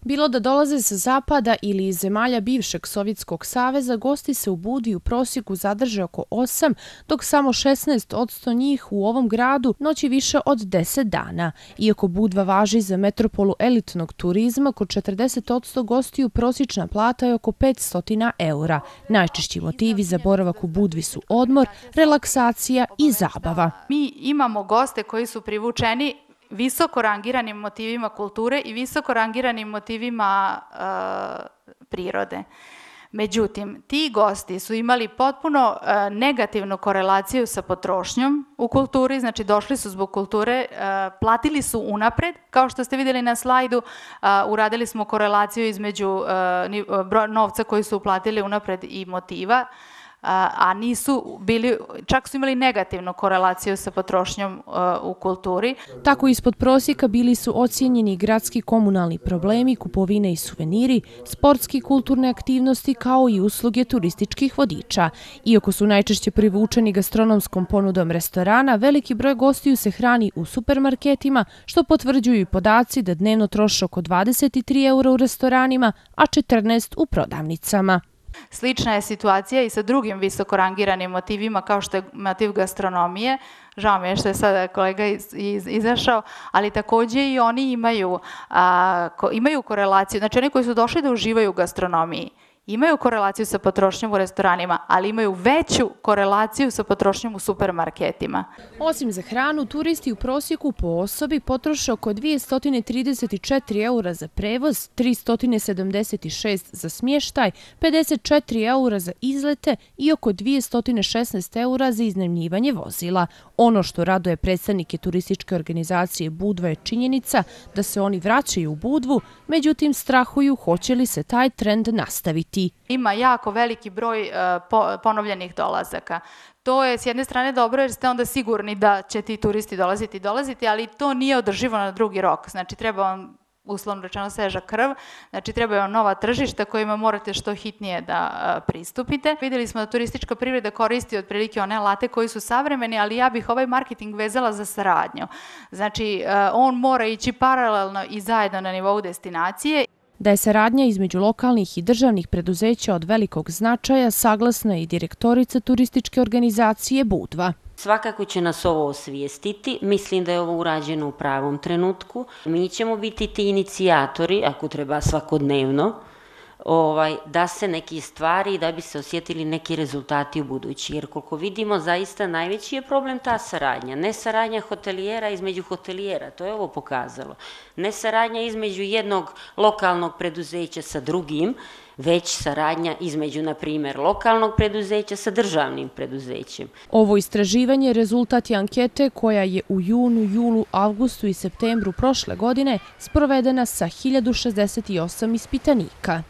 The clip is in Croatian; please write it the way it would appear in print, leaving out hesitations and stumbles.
Bilo da dolaze sa zapada ili iz zemalja bivšeg Sovjetskog saveza, gosti se u Budvi u prosjeku zadrže oko 8, dok samo 16% njih u ovom gradu noći više od 10 dana. Iako Budva važi za metropolu elitnog turizma, kod 40% gostiju prosječna plata je oko 500 eura. Najčešći motivi za boravak u Budvi su odmor, relaksacija i zabava. Mi imamo goste koji su privučeni visoko rangiranim motivima kulture i visoko rangiranim motivima prirode. Međutim, ti gosti su imali potpuno negativnu korelaciju sa potrošnjom u kulturi, znači došli su zbog kulture, platili su unapred, kao što ste vidjeli na slajdu, uradili smo korelaciju između novca koji su uplatili unapred i motiva, a nisu bili, čak su imali negativnu korelaciju sa potrošnjom u kulturi. Tako ispod prosjeka bili su ocijenjeni gradski komunalni problemi, kupovine i suveniri, sportski i kulturne aktivnosti kao i usluge turističkih vodiča. Iako su najčešće privučeni gastronomskom ponudom restorana, veliki broj gostiju se hrani u supermarketima, što potvrđuju i podaci da dnevno troše oko 23 eura u restoranima, a 14 u prodavnicama. Slična je situacija i sa drugim visoko rangiranim motivima kao što je motiv gastronomije. Žao mi je što je sada kolega izašao, ali također i oni imaju korelaciju. Znači oni koji su došli da uživaju u gastronomiji imaju korelaciju sa potrošnjom u restoranima, ali imaju veću korelaciju sa potrošnjom u supermarketima. Osim za hranu, turisti u prosjeku po osobi potroše oko 234 eura za prevoz, 376 za smještaj, 54 eura za izlete i oko 216 eura za iznajmljivanje vozila. Ono što raduje predstavnike turističke organizacije Budva je činjenica da se oni vraćaju u Budvu, međutim strahuju hoće li se taj trend nastaviti. Ima jako veliki broj ponovljenih dolazaka. To je s jedne strane dobro jer ste onda sigurni da će ti turisti dolaziti, ali to nije održivo na drugi rok. Znači treba vam, uslovno rečeno, sveža krv, znači trebaju vam nova tržišta kojima morate što hitnije da pristupite. Vidjeli smo da turistička privreda koristi otprilike one alate koji su savremeni, ali ja bih ovaj marketing vezala za saradnju. Znači on mora ići paralelno i zajedno na nivou destinacije. Da je saradnja između lokalnih i državnih preduzeća od velikog značaja, saglasna je i direktorica turističke organizacije Budva. Svakako će nas ovo osvijestiti, mislim da je ovo urađeno u pravom trenutku. Mi ćemo biti ti inicijatori, ako treba svakodnevno, da se neke stvari, da bi se osjetili neki rezultati u budući. Jer koliko vidimo, zaista najveći je problem ta saradnja. Ne saradnja hotelijera između hotelijera, to je ovo pokazalo. Ne saradnja između jednog lokalnog preduzeća sa drugim, već saradnja između, na primjer, lokalnog preduzeća sa državnim preduzećem. Ovo istraživanje rezultat je ankete koja je u junu, julu, avgustu i septembru prošle godine sprovedena sa 1068 ispitanika.